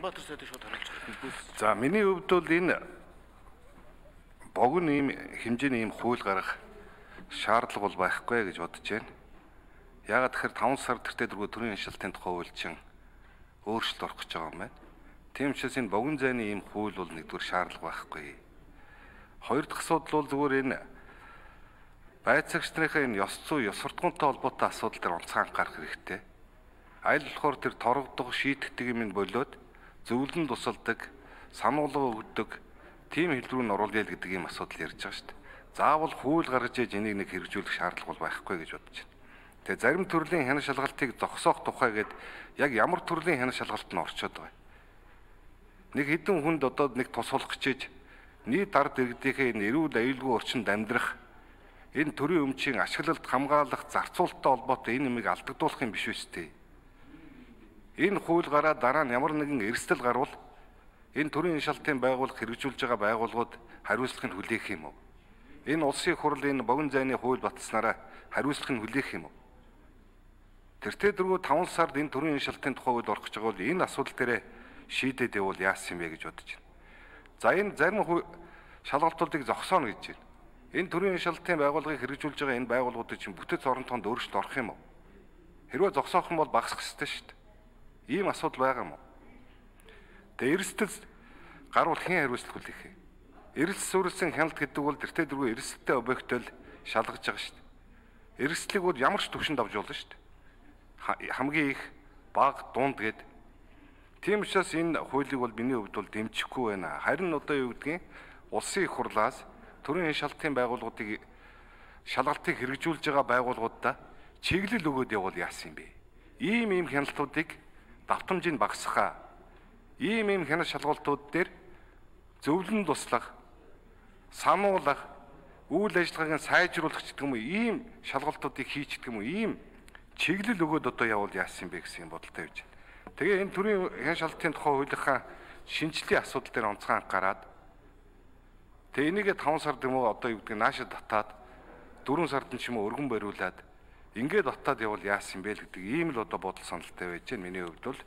Нямбатар сайдыг шууд харуулж байгаа. За миний хувьд бол энэ богино ийм хэмжээний ийм хууль гарах шаардлага бол байхгүй гэж бодож байна. Яагаад тэгэхээр 5 сар тэртээ дөрвөө төрийн хяншилтын тухай хууль чинь өөрчлөлт орох гэж байгаа юм байна. Тийм учраас энэ богино зайны ийм хууль бол нэгдүгээр шаардлага байхгүй. Хоёр дахь асуудал бол зүгээр энэ байцаагч нарын энэ ёс зүй, ёс суртахуунтай холбоотой асуудал дээр онцгой анхаарах хэрэгтэй. Аль болохоор тэр торгодох, шийтгэдэг юм болоод зөвлөн тусалдаг, сануулга өгдөг тийм хэл рүү н оруулъя л гэдэг ийм асуудал ярьж байгаа шүү дээ. Заавал хууль гаргаж ээж энийг нэг хэрэгжүүлэх шаардлага бол байхгүй гэж бодож байна. Тэгээ зарим төрлийн хяналт шалгалтыг зогсоох тухай гээд яг ямар төрлийн хяналт шалгалт нь орчод байгаа. Нэг хэдэн хүнд одоо нэг тусалах гэжээж нийт ард иргэдийнхээ энэ эрүүл аюулгүй орчинд амьдрах энэ төрийн өмчийн ашиглалт хамгаалах зарцуулалттай холбоотой энэ юмыг алдагдуулах юм биш үстэй. Энэ хууль гараад дараа нь ямар нэгэн эрсдэл гарвал энэ төрийн шалтгаан байгууллага хэрэгжүүлж байгаа байгууллагууд хариуцлагыг хүлээх юм уу? Энэ улсын хурал энэ богино зайны хууль баталснараа хариуцлагыг хүлээх юм уу? Тэртээ дөрвөө 5 сард энэ төрийн шалтгаан тухай хууль орох гэж байгаа бол энэ асуудал дээр шийдээд явуул яасан юм бэ гэж бодож байна. За энэ зарим шалгалтуудыг зогсооно гэж байна. Энэ төрийн шалтгаан байгууллагыг хэрэгжүүлж байгаа энэ байгууллагуудыг чинь бүтэц оронтоонд өөрчлөлт орох юм уу? Хэрвээ зогсоох юм бол багасах ёстой шүү дээ. Ийм асуудал байгаа юм уу? Тэгээ эрсдэл гарвал хэн хариуцлага хүлээх вэ? Эрсдэл суурилсан хяналт гэдэг бол тэртээ дөрвөө эрсдэлтэй объектол шалгаж байгаа шүү дээ. Эрсдлийг бол ямар ч түвшинд авч болно шүү дээ. Хамгийн их бага дунд гээд. Тийм учраас энэ хуулийг бол миний хувьд бол дэмжихгүй байна. Харин одоо юу гэдгийг улсын их хурлаас төрийн шалтгаан байгууллагуудыг шалгалтыг хэрэгжүүлж байгаа байгууллагуудаа чиглэл өгөөд явуул яасан юм бэ? Ийм хяналтуудыг давтамжийг багасгахаа. Ийм хяналт шалгалтууд дээр зөвлөн туслах, сануулгах, үйл ажиллагааг сайжруулах гэдэг юм уу? Ийм шалгалтуудыг хийчих гэдэг юм уу? Ийм чиглэл өгөөд одоо явуул яасан юм бэ гэсэн бодолтой байж байна. Тэгээ энэ төрийн хяналт шалгалтын тухай хуулийнхаа шинжилгээ асуудал дээр онцгой анхаарад тэгээ энийгээ 5 сард юм уу одоо юу гэдэг нааша татаад 4 сард нь ч юм уу өргөн бариулаад ингээд батаад явуул яасан юм бэ гэдэг ийм л одоо бодол саналтай байж байна миний хувьд бол.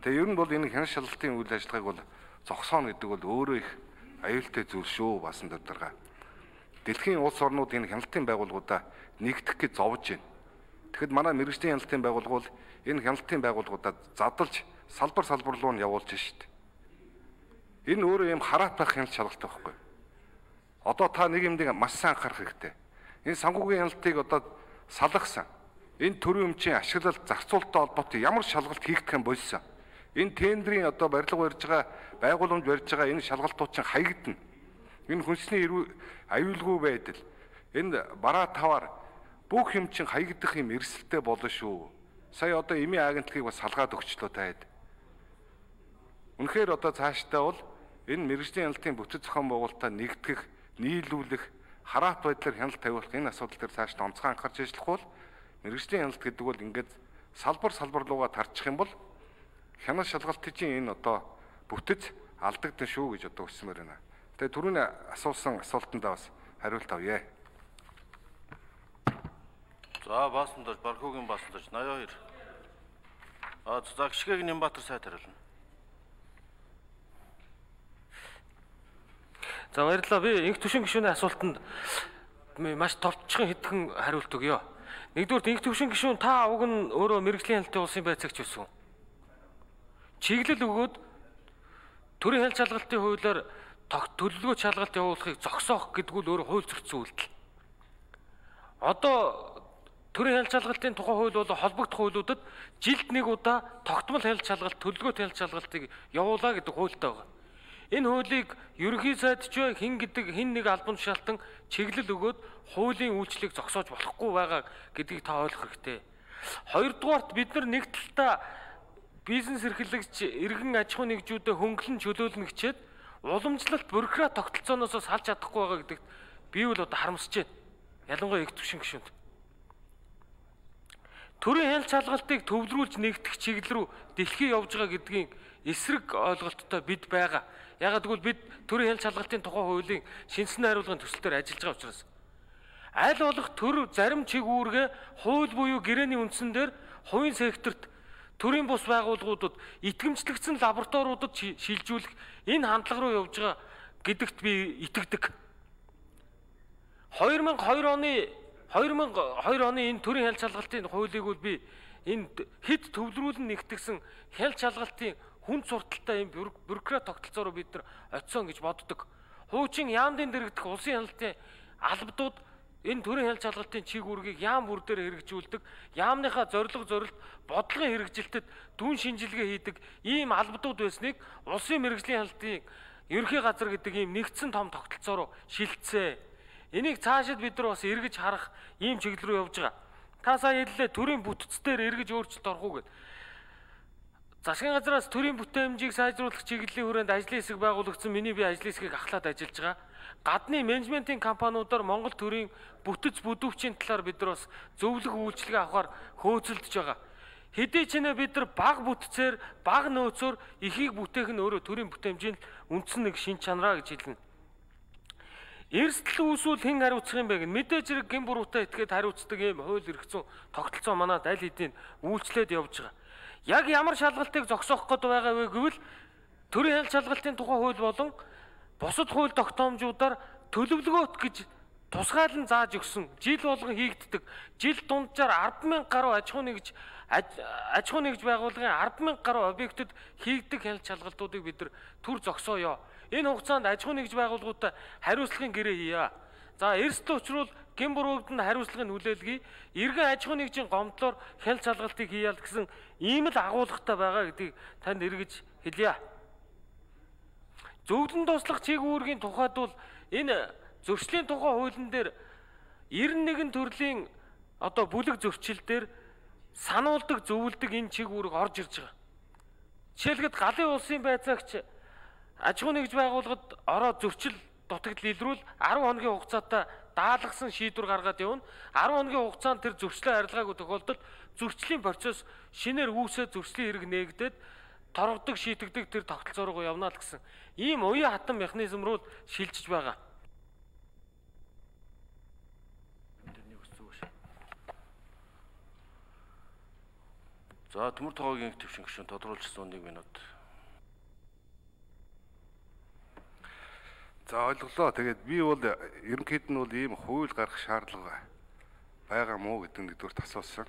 Тэгээ ер нь бол энэ хяналт шалгалтын үйл ажиллагааг бол зогсооно гэдэг бол өөрөө их аюултай зүйл шүү басан дурдгаа. Дэлхийн улс орнууд энэ хяналтын байгууллагуудаа нэгдэх гэж зовж байна. Тэгэхэд манай мэргэжлийн хяналтын байгууллага бол энэ хяналтын байгууллагуудаа задалж салбар руу нь явуулж шít. Энэ өөрөө юм хараат байх хяналт шалгалт байхгүй. Одоо та нэг юмдыг маш сайн анхаарах хэрэгтэй. Энэ санхүүгийн хяналтыг одоо салгасан. Энэ төрийн өмчийн ашиглалт зарцуулалттай холбоотой ямар шалгалт хийгдэх юм болсон. Энэ тендерийн одоо барилга барьж байгаа, байгууламж барьж байгаа энэ шалгалтууд чинь хаягдана. Энэ хүнсний аюулгүй байдал, энэ бараа таваар бүх юм чинь хаягдах юм эрсдэлтэй болно шүү. Сая одоо эмийн агентлагийг бас салгаад өгчлөө таад. Үнэхээр одоо цаашдаа бол энэ мэргэжлийн хяналтын бүтэц зохион байгуулалтаа нэгтгэх, нийлүүлэх, хараат байдлаар хяналт тавиулах энэ асуудал дээр цаашдаа онцгой анхаарч ажиллах бол мэргэжлийн хяналт гэдэг бол ингээд салбар руугаа тарчих юм бол хяналт шалгалтын чинь энэ одоо бүтэц алдагдсан шүү гэж одоо өсмөр байна. Тэгээ түрүүний асуусан асуултандаа бас хариулт авъя. За баасандаж Бархуугийн баасандаж 82. За гიშгээг Нямбатар сайд хариулна. За баярлалаа. Би инх төвшин гишүүний асуултанд маш товчхон хэдхэн хариулт өгье. Нэгдүгээр инх төвшин гишүүн та уг нь өөрөө мэргэжлийн хяналтын улсын байцаагч байсан. Чиглэл өгөөд төрийн хяналт шалгалтын хуулиар төлөвлөгөө шалгалт явуулахыг зогсоох гэдэг нь өөрөө хууль зөрчсөн үйлдэл. Одоо төрийн хяналт шалгалтын тухай хууль бол холбогдох хуулиудад жилд нэг удаа тогтмол хяналт шалгалт, төлөвлөгөөт хяналт шалгалтыг явуулаа гэдэг хуультай байгаа. Энэ хуулийг ерөнхий сайд ч хин нэг албан тушаалтан чиглэл өгөөд хуулийн үйлчлэгийг зогсоож болохгүй байгаа гэдгийг та ойлгох хэрэгтэй. Хоёрдугаарт бид нар нэг талдаа бизнес эрхлэгч иргэн аж ахуй нэгжүүдэд хөнгөлөн чөлөөлнө гэчээд уламжлалт бюрократ тогтолцооноос салж чадахгүй байгаа гэдэгт би бол одоо харамсаж байна. Ялангуяа их төвшин гишүүнд. Төрийн хяналт шалгалтыг төвлөрүүлж нэгтгэх чиглэл рүү дэлхий явж байгаа гэдгийн эсрэг ойлголттой бид байгаа. Ягаад гэвэл бид төрийн хяналт шалгалтын тухай хуулийн шинжилгээ хариулгын төсөл дээр ажиллаж байгаа учраас аль болох төр зарим чиг үүргээ хууль буюу гэрээний үндсэн дээр хувийн секторт төрийн бус байгууллагуудад итгэмжлэгдсэн лабораториудад шилжүүлэх энэ хандлага руу явж байгаа гэдэгт би итгэдэг. 2002 оны энэ төрийн хяналт шалгалтын хуулийг бол би энэ хэд төвлөрүүлэн нэгтгэсэн хяналт шалгалтын хүнд сурталтай юм бюрократ тогтолцоороо бид нар очисон гэж боддог. Хуучин яамдын дэрэгдэх улсын хяналтын албадууд энэ төрийн хяналт шалгалтын чиг үүргийг яам бүр дээр хэрэгжүүлдэг, яамныхаа зорилго бодлогын хэрэгжилтэд дүн шинжилгээ хийдэг ийм албадууд байсныг улсын мэргэжлийн хяналтын ерөнхий газар гэдэг ийм нэгдсэн том тогтолцоо руу шилжсэн. Энийг цаашид бид нар бас эргэж харах ийм чиглэл рүү явж байгаа. Та сая хэллээ төрийн бүтцээр эргэж өөрчлөлт орох уу гэд. Засгийн газраас төрийн бүтээмжийг сайжруулах чиглэлийн хүрээнд ажлын хэсэг байгуулагдсан. Миний би ажлын хэсгийг ахлаад ажиллаж байгаа. Гадны менежментийн компаниудаар Монгол төрийн бүтэц бүдүүвчийн талаар бид нар бас зөвлөх үйлчилгээ авахар хөөцөлдөж байгаа. Хэдий ч нэ бид нар бага бүтцээр, бага нөөцөөр ихийг бүтээх нь өөрөө төрийн бүтээмжийн үндсэн нэг шин чанараа гэж хэлнэ. Эрсдэл үүсвэл хэн хариуцах юм бэ гэн мэдээж хэрэг гин буруутай этгээд хариуцдаг юм хууль эрх зүйн тогтолцоо манад аль хэдийн үйлчлээд явж байгаа. Яг ямар шалгалтыг зогсоох гээд байгаа вэ гэвэл төрийн хяналт шалгалтын тухай хууль болон бусад хууль тогтоомжуудаар төлөвлөгөөт гэж тусгаалan зааж өгсөн жил болгон хийгддэг. Жил дунджаар 100000 гаруй аж ахуй нэгж байгууллагын 100000 гаруй объектэд хийгддэг хяналт шалгалтуудыг бид нар төр зогсооё. Энэ хугацаанд аж ахуй нэгж байгууллагуудад хариуцлагын гэрээ хийя. За эрсдэл учруул гин буруугданд хариуцлагын хүлээлгий, эргэн аж ахуй нэгжийн гомдлоор хяналт шалгалтыг хийя гэсэн ийм л агуулгатай байгаа гэдгийг танд эргэж хэлье. Зөвлөн туслах чиг үүргийн тухайд бол энэ зөрчлийн тухай хуулийн дээр 91 төрлийн одоо бүлэг зөрчил дээр сануулдаг, зөвлөдөг энэ чиг үүрэг орж ирж байгаа. Жишээлбэл галын улсын байцаагч аж ахуй нэгж байгууллагад ороод зөрчил дутагдал илрүүл 10 хоногийн хугацаатай даалгасан шийдвэр гаргаад явна. 10 хоногийн хугацаанд тэр зөрчлөө арилгаагүй тохиолдолд зөрчлийн процесс шинээр үүсээд зөрчлийн хэрэг нээгдээд торгодог, шийтгдэг тэр тогтолцоо руу явна л гэсэн ийм уян хатан механизм руу шилжиж байгаа. За төмөр тогоогийн төвшин гишүүн тодруулсан 1 минут. За ойлголоо. Тэгээд би бол ерөнхийд нь бол ийм хууль гаргах шаардлага байгаа мó гэдэг нэгдүгээр асуусан.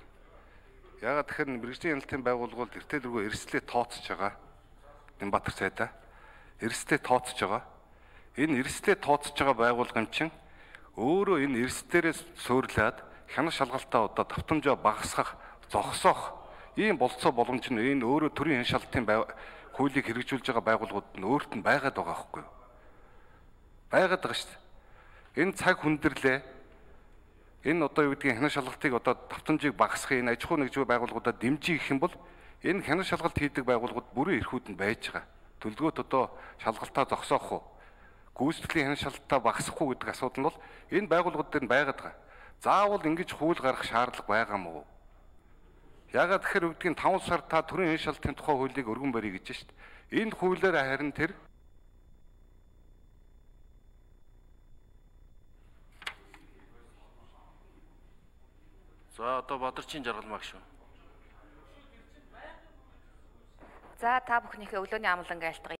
Яагаад тэгэхээр мэргэжлийн хяналтын байгууллагууд эртээ дөрвөө эрсдлээ тооцож байгаа. Нямбатар цайдаа эрсдлээ тооцож байгаа. Энэ эрсдлээ тооцож байгаа байгууллагын чинь өөрөө энэ эрсдлээрээс суйрлаад хянах шалгалтаа одоо давтамжаа багасгах, зогсоох ийм болцоо боломж нь энэ өөрөө төрийн хяналтын хуулийг хэрэгжүүлж байгаа байгууллагууд нь өөрт нь байгаад байгаа байхгүй юу? Байгаад байгаа шүү дээ. Энэ цаг хүндэрлээ. Энэ одоо юу гэдгийг хянах шалгалтыг одоо давтамжийг багасгах энэ аж ахуй нэгж байгууллагуудад дэмжиж гэх юм бол энэ хянах шалгалт хийдэг байгууллагууд бүрэн эрхүүд нь байж байгаа. Төлөвлөгөөт одоо шалгалтаа зогсоох уу? Гүйцэтгэлийн хянах шалгалтаа багасгах уу гэдэг асуудал нь бол энэ байгууллагууд дээр нь байгаад байгаа. Заавал ингэж хууль гаргах шаардлага байгаа мó. Яагаад тэгэхээр үгдгийн 5 сар та төрийн хянах шалгалтын тухай хуулийг өргөн барья гэж шүү дээ. Энэ хуулиар харин тэр За одоо Бадарчин жаргал магшгүй. За та бүхнийхээ өглөөний амлан айлтгая.